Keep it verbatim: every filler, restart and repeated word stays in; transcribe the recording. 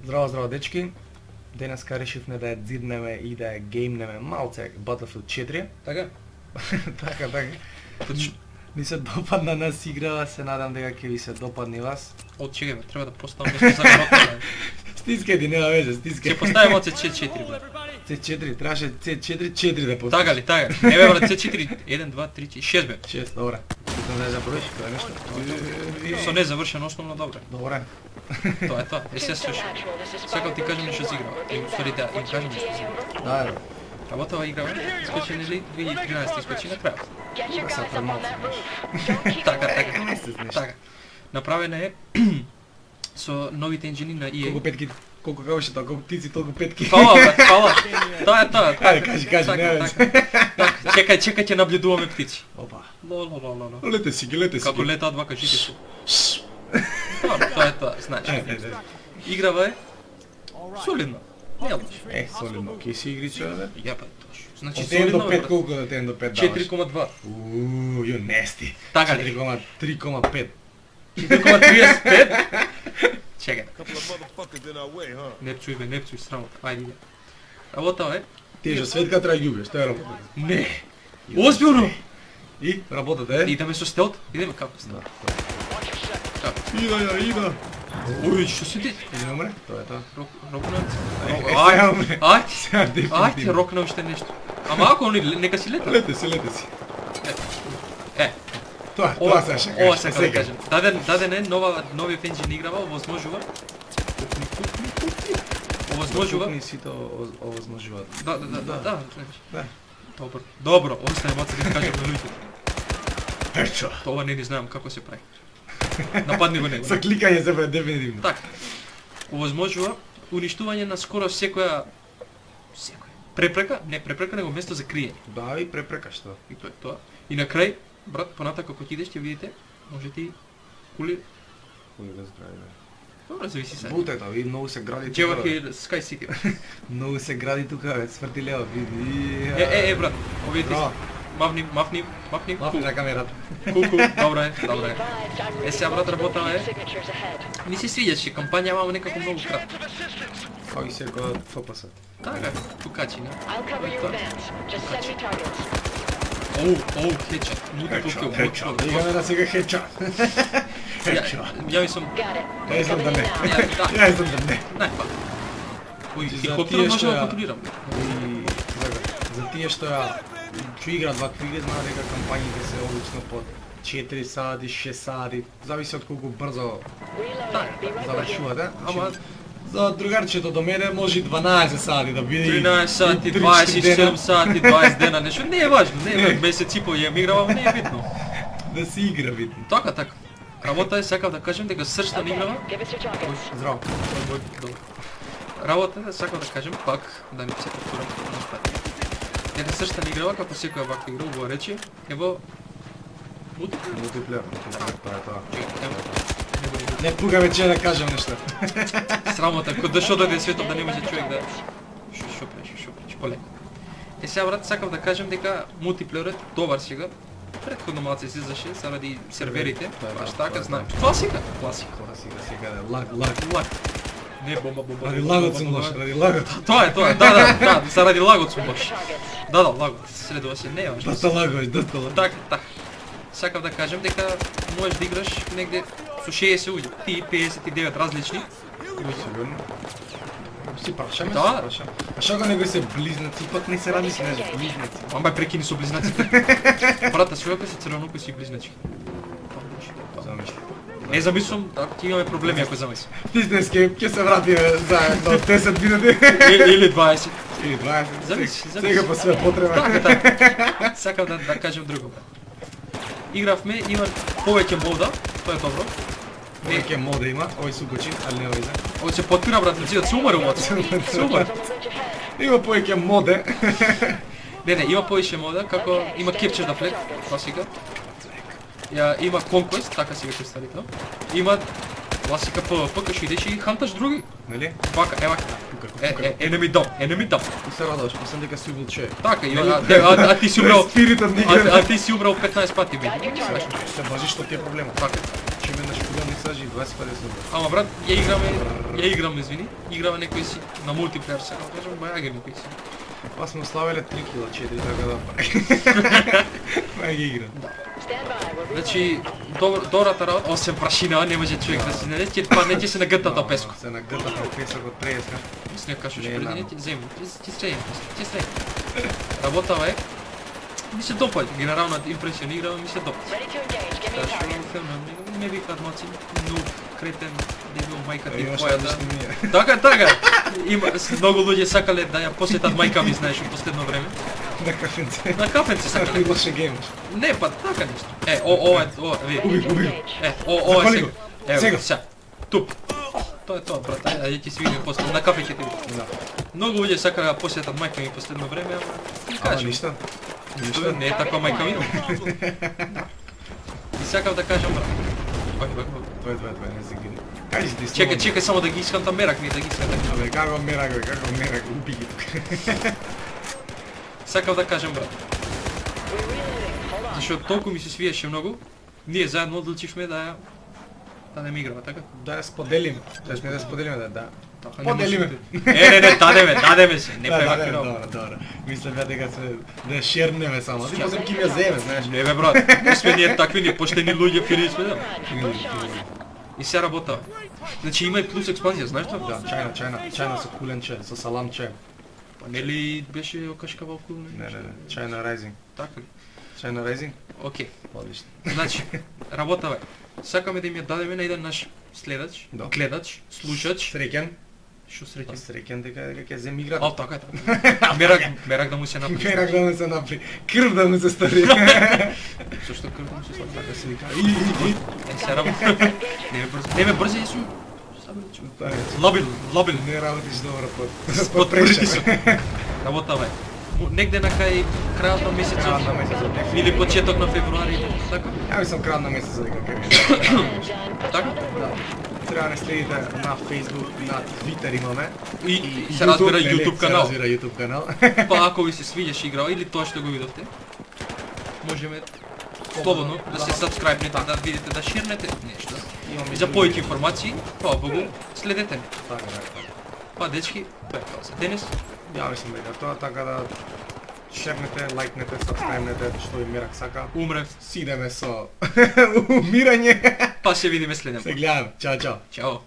Здраво, здраво дечки. Денеска решивме да ја дзиднеме и да ја геймнеме малце Battlefield четири. Така? Така, така. Ни се допадна нас играва, се надам дека ќе ви се допадне и вас. Од чега бе, треба да поставам нешто за рокна. Стискај ти, нема веќе, стискај. Ќе поставим од С четири бе. С четири, требаше С четири четири да поставиш. Така ли, така. Не бе брат, С четири еден, два, три, четири, шест бе. шест, добре. Питам да ја забравиш тоа е нешто. Со незавршен основно добре. Добре. Тоа е тоа. Е се слушай. Сакам ти кажам нешто за играва. И ствари да им кажам нешто за играва. Да, бе. Работава играва, искочи нели две илјади и тринадесета искочи на крајот. Са премалци. Така, така. Месец нешто. Така. Направена е со новите енџини на И А. Колку петки, колку како ше тоа, колку птици, толку петки. Фала, брат, фала. Тоа е тоа. Ајде, кажи, кажи, Така, нема така. веќе. Така, Чекај, чекај, ќе наблюдуваме птици. Опа. Ло, ло, ло, ло, ло. Лете си ги, лете си Како ги. летаат вака жите су. Тоа, тоа е тоа, знаеш. Ајде, ајде. Играва е солидна. Не лош. Е, солидно, ки си игриче, бе? Ја па точно. Значи Од еден до солидно пет, е. колку од еден до пет даваш? четири кома два. Ууу, јо нести. Така ли? четири кома три кома пет. четири кома триесет и пет. Чекај. Couple of motherfuckers in our way, huh? Не пцуј бе, не пцуј срамота. Ајде иде. Работава е. Тежа светка треба ги убиеш, тоа е работата. Не. Озбилно. И работата е? Идеме со стелт. Идеме како Да, стелт. тоа. Како? Ида ја, ида. Ој, што се ти? Иде не умре? Тоа е тоа. Рок, рокна. Е, Ај, сега умре. ај. Сега Ајде, дефинитивно. рокна уште нешто. Ама ако они нека си лета. Лете си, лете си. Е, Тоа, ова тоа се ова сакам да кажам. Даден даден е нова нови енџин играва, овозможува. Овозможува. Ни сите овозможуваат. Да, да, да, да, да. Да. Добро. Добро, остане моци да кажам на луѓето. Ечо. Тоа не ни знаам како се прави. Нападни го него. Со кликање се прави дефинитивно. Така. Овозможува уништување на скоро секоја секоја препрека, не препрека, него место за криење. Да, и препрека што. И тоа е тоа. И на крај, брат, понатака кога идеш ќе видите, може ти кули, Кој да згради, бе. добро зависи сега. Бутета, ви многу се гради Джева тука. бе. ќе Sky City. Многу се гради тука, бе, сврти лево, види. Е, е, е, брат, овие ти Браво. мавни, мавни, мавни, Мафи на камерата. куку, добро е, добро е. Е, сега брат работава е, ми се свиѓаше, кампања мамо некако многу кратко. Како и секој Ф П С. Така, тукачи, не? I'll cover your advance. Just send me targets. Оу, оу, хеча, мута тука, Хеча, мута. играме на сега хеча. Хеча. Ја мислам, Got it. Ја искам да не. Ја, да. Ја искам да не. најпа. Ој, За хеликоптерот тие може што да ја- контролирам. И за, за тие што ја што играат вакви игри, знаат дека кампањите се обично по четири сати, шест сати, зависи од колку брзо Reloading. Be right with you. завршувате. Ама Значи, за другарчето до мене може и дванаесет сати да биде. и- тринаесет сати, и три дваесет и седум дена сати, дваесет дена, нешто не е важно, не Не. е месец и по ја играва, не е битно. Да се игра видно. Така, така. Работа е, сакав да кажем дека срцта на Okay, играва. give us your targets. Здраво. Добро. Работа е, сакав да кажем пак, да не се повторам напред. Дека срцта на играва, како секоја ваква игра, убаво рече, е во мултиплеер. Мултиплеер, тоа е тоа. Ево, не го не Не пуга вече да кажам нешто. го. Срамота, кога дошол дојде светот да не може човек да шо шо преш, шо преш, полеко. Е сега брат, сакав да кажем дека мултиплеерот добар сега. Претходно малце се излаше заради серверите, Тоа е баш тоа, така тоа е знам. тоа. Класика, класика. Класика секаде, лаг, лаг. Лаг. Не бомба, бомба. Ради бомба, лагот бомба, сум бомба. лош, ради лагот. Тоа е, тоа е, да, да, да, заради лагот сум баш. Targets. Да, да, лагот, следува се, не е важно. Доста лагош, доста лагош. Така, така. Сакав да кажем дека можеш да играш негде со шеесет луѓе, ти педесет и девет различни. Сигурно. Си прашаме, Да. си прашаме. А што го него се близнаци, пак не се ради си нешто близнаци. Амбај прекини со близнаците. Брата, својако се црвенуко си близначки. Замисли. Не замислам, ако ти имаме проблеми ако замислам. Пизнеске, ќе се вратиме заедно десет минути. Или, или дваесет. Или дваесет. Зависи, Сега- зависи. Сега по све потреба. Така, така. Сакам да, да кажем друго. брат. Игравме, има повеќе мода, тоа е добро. Не, Неке мода има, овој сукочи, али не овој за. овој се потпира брат, значи да се умре мода. Се умре. Don't glitch ahead. Има повеќе моде. Не, не, има повеќе мода, како има Capture the Flag, класика. Ја има Conquest, така си веќе старитно. Има класика PvP, кај што идеш и ханташ други. Нели? Вака, ева, Тука, е, е, enemy down, enemy down. И се радуваш, мислам дека си убил човек. Така, и, а, а, а ти си умрал, Спиритот ни а, игра. а ти си умрал петнаесет пати, бе. Got your target. Се бажи што ти е проблемот. Така. имаше веднаш кога ми сажи дваесет петдесет. Ама брат, ја играме, ја играме, извини, играме некој си на мултиплеер сега, кажам баја ги некој си. Па сме ославиле три кила четири, така да па ги игра. Значи, добр, добрата работа, осем прашина, не може човек да си не ќе падне, ќе се нагртата песко. Се нагртата песок од треска. Снег кашуш Не, преди нано. не ти земе, ти среди, ти среди. Работава е. Ми се допаѓа, генерално импресионирава, ми се допаѓа. Ready to engage. Give me a Ташко target. филм, не викаат маци, но кретен, дебил мајка ти Имаш твоја да. различни ние. Така, така. Има многу луѓе сакале да ја посетат мајка ми, знаеш, у последно време. На кафенце. На кафенце Сакали сакале. лоше геймаш. Не, па така нешто. Е, о, ова е, ова, ви. Уби, уби. Е, о, ова е Запали сега. го. Ево, Сега. сега. Туп. Тоа е тоа, брат. Ајде, ајде ќе се видиме после. На кафе ќе те видиме. Да. Многу луѓе сакале да посетат мајка ми последно време, ама ти Ама кажам. ништа. Ништо не е таква мајка ми. И сакав да кажам, брат. Ој, ој, ој. Тоа е тоа, тоа е, не се гири. Кажи ти Чекај, чекај само да ги искам та мерак ми, да ги искам. Абе, како мерак, бе, како мерак, уби ги тука. Сакав да кажам, брат. We're reloading. Hold on. Зашто толку ми се свиеше многу, ние заедно одлучивме да ја да не ми играва, така? Да ја споделиме. Тоест не да споделиме, да, да. Така Поделиме. Не, не, не, дадеме, дадеме се, не Да, прави да, вакви да, работи. добро, добро. Мислам ја дека се да ја шернеме само. Ти после ќе ми ја земе, знаеш. Не бе брат, не сме ние такви, ние поштени луѓе, фини сме, да. Come on. Push on. И се работа. Значи има и плюс експанзија, знаеш тоа? Да, чајна, чајна, чајна со куленче, со саламче. Па нели беше окашкавал кул, Не, не, не, чајна Rising. Така ли? Чајна Rising? Окей. Одлично. Значи, работава е. Сакаме да им ја дадеме на еден наш следач, Да. гледач, слушач. Среќен. Што Па среќен? среќен дека дека ќе земе играта. Ал така е. Така. Мерак, мерак да му се направи. Мерак да му се напри. Крв да му се стори. Зашто крв да му се слага? Така се вика. И, и, и. Е, се работа. Не ме брзи, не ме брзи, јас сум. Тоа е. Лабил, лабил. Не работиш добро под Под под пресор. притисок. Работава е. Му- Негде на кај крајот на месецот. Крајот на месецот. Или почеток на февруари, така? Ја мислам крајот на месецот дека ќе ми. Така? Да. Треба да не следите на Facebook, на Twitter имаме. И се разбира нели, YouTube канал. Се разбира YouTube канал. Па ако ви се свиѓаше играва или тоа што го видовте, можеме слободно да се сабскрајбнете, да видите, да ширнете нешто. Имаме И за повеќе информации, па Богу, следете ме. Така, така. Па дечки, тоа е тоа за денес. Ја мислам дека тоа така да шернете, лајкнете, сабскрајбнете, што и Мерак сака. Умрев, Си идеме со умирање. па се видиме следен Се пат. гледаме. Чао, чао. Чао.